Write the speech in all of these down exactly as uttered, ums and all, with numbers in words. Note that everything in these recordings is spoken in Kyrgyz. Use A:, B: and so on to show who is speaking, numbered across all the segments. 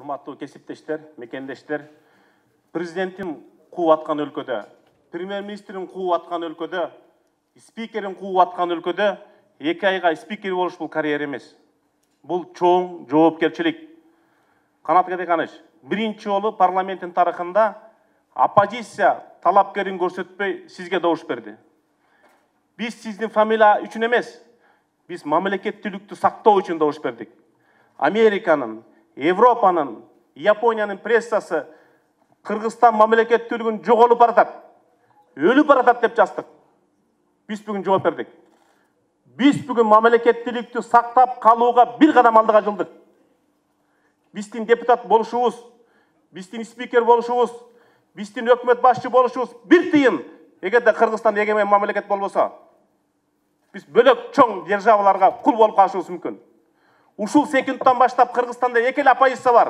A: Урматтуу кесиптештер, мекендештер, президенттин кууп аткан өлкөдө, премьер-министрин кууп аткан өлкөдө, спикерин кууп аткан өлкөдө эки айга спикер болуш бул карьера эмес. Бул чоң жоопкерчилик. Канат Кадыканыч, биринчи жолу парламенттин тарыхында оппозиция талапкерин көрсөтпөй сизге добуш берди. Биз сиздин фамилия үчүн эмес, биз мамлекеттүүлүктү сактоо үчүн добуш бердик. Американын, Европанын, Япониянын прессасы Кыргызстан мамлекеттүүлүгүн жоголуп баратат, өлүп баратат деп жаздык. Биз бүгүн жооп бердик. Биз бүгүн мамлекеттүүлүктү сактап калууга бир кадам алдыга жылдык. Биздин депутат болушубуз, биздин спикер болушубуз, биздин өкмөт башчы болушубуз бир тыйын. Эгерде Кыргызстан эгемен мамлекет болбосо, биз бөлөк чоң державаларга кул болуп калышыбыз мүмкүн. Ушул секундтан баштап Кыргызстанда эки эле оппозиция бар.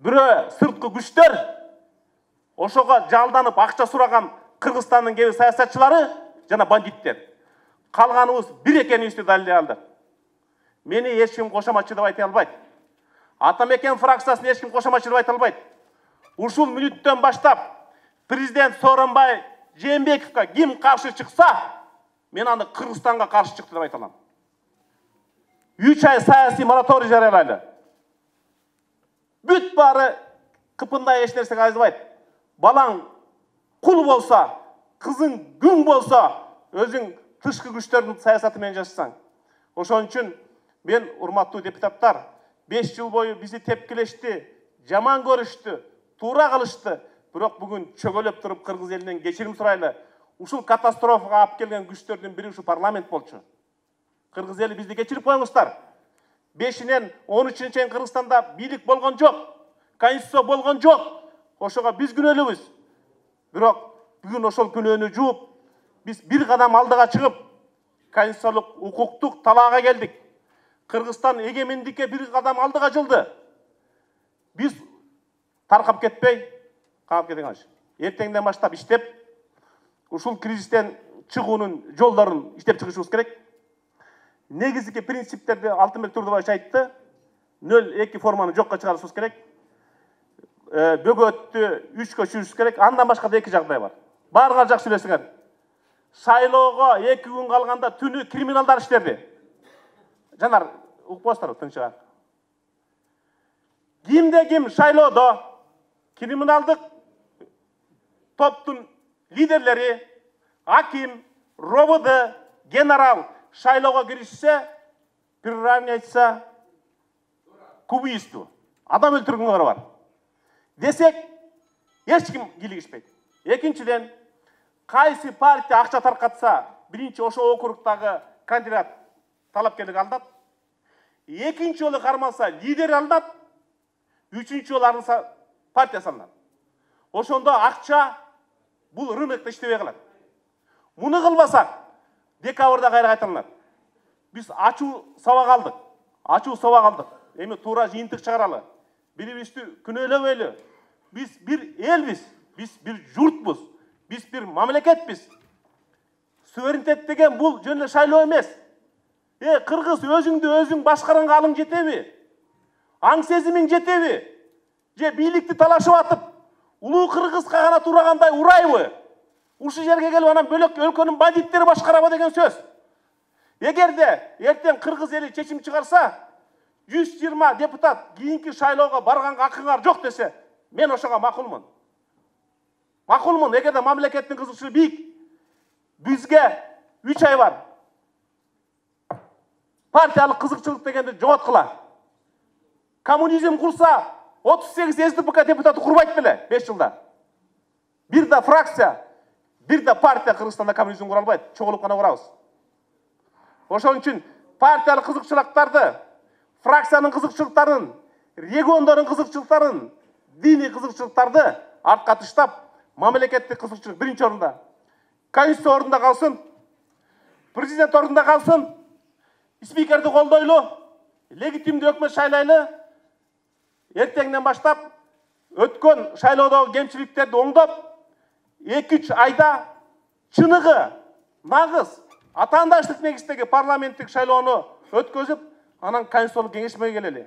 A: Бирөө сырткы күчтөр, ошого жалданып акча сураган Кыргызстандын кээ бир саясатчылары жана бандиттер. Калганыбыз бир экенибизди далилдей алдык. Мени эч ким кошоматчы деп айта албайт. Атамекен фракциясын эч ким кошоматчы деп айта албайт. Ушул мүнөттөн баштап президент Сооронбай Жээнбековго ким каршы чыкса, мен аны Кыргызстанга каршы чыкты деп айта алам. үч ай саясий мораторий жарыялайлы. Бүт баары кыпындай эч нерсеге айзбайт. Балаң кул болса, кызың күң болса, өзүң тышкы күчтөрдүн саясаты менен жашасаң. Ошон үчүн мен, урматтуу депутаттар, беш жыл бою бизди тепкилешти, жаман көрүштү, туура кылышты. Бирок бүгүн чөгөлөп туруп кыргыз элинен кечирим сурайлы. Ушул катастрофага алып келген күчтөрдүн бири ушу парламент болчу. Кыргыз эли бизди кечирип коюңуздар. бешинен он үчүнчү чейин Кыргызстанда бийлик болгон жок, конституция болгон жок. Ошого биз күнөөлүүбүз. Бирок бүгүн ошол күнөөнү жууп, биз бир кадам алдыга чыгып, конституциялык укуктук талаага келдик. Кыргызстан эгемендикке бир кадам алдыга жылды. Биз таркап кетпей, калып кетиңиз. Эртеңден баштап иштеп, ушул кризистен чыгуунун жолдорун иштеп чыгышыбыз керек. Негизги принциптерди Алтынбек Турдубаевич айтты. нөл эки форманы жокко чыгарышыбыз керек. Бөгөттү үчкө чүйүшүбүз керек. Андан башка да эки жагдай бар. Баарыңар жакшы билесиңер. Шайлоого эки күн калганда түнү криминалдар иштеди. Жанар, укпостор тынчыга. Кимде ким шайлоодо криминалдык топтун лидерлери, аким, робд, генерал шайлоого киришсе, приравняется к убийству. Адам өлтүргөнгө бар. Десек, эч ким кийлигишпейт. Экинчиден, кайсы партия акча таркатса, биринчи ошо округдагы кандидат талапкерлик алынат. Экинчи жолу кармалса, лидер алынат. Үчүнчү жолу арынса, партия салынат. Ошондо акча бул рынокто иштебей калат. Муну кылбасак, декабрда кайра кайталанат. Биз ачуу сабак алдык. Ачуу сабак алдык. Эми туура жыйынтык чыгаралы. Бири-бирибизди күнөөлөбөйлү. Биз бир элбиз, биз бир журтпуз, биз бир мамлекетпиз. Суверенитет деген бул жөн эле шайлоо эмес. Э, кыргыз өзүңдү өзүң башкаранга алың жетеби? Аң сезимиң жетеби? Же бийликти талашып атып, улуу кыргызга гана турагандай урайбы? Ушул жерге келип анан бөлөк өлкөнүн бандиттери башкарабы деген сөз. Эгерде эртең кыргыз эли чечим чыгарса, жүз жыйырма депутат кийинки шайлоого барганга акыңар жок десе, мен ошого макулмун. Макулмун, эгерде мамлекеттин кызыкчылыгы бийик. Бизге үч ай бар. Партиялык кызыкчылык дегенди жоготкула. Коммунизм курса, отуз сегиз СДПК депутаты курбайт беле беш жылда. Бир да фракция, бир да партия Кыргызстанда коммунизм кура албайт, чогулуп гана курабыз. Ошон үчүн партиялык кызыкчылыктарды, фракциянын кызыкчылыктарын, региондордун кызыкчылыктарын, диний кызыкчылыктарды артка таштап, мамлекеттик кызыкчылык биринчи орунда. Конституция орунда калсын, президент орунда калсын, спикерди колдойлу, легитимдүү өкмөт шайлайлы. Эртеңден баштап өткөн шайлоодогу кемчиликтерди оңдоп, эки үч айда чыныгы, нагыз, атаандаштык негиздеги парламенттик шайлоону өткөзүп, анан конституциялык кеңешмеге келели.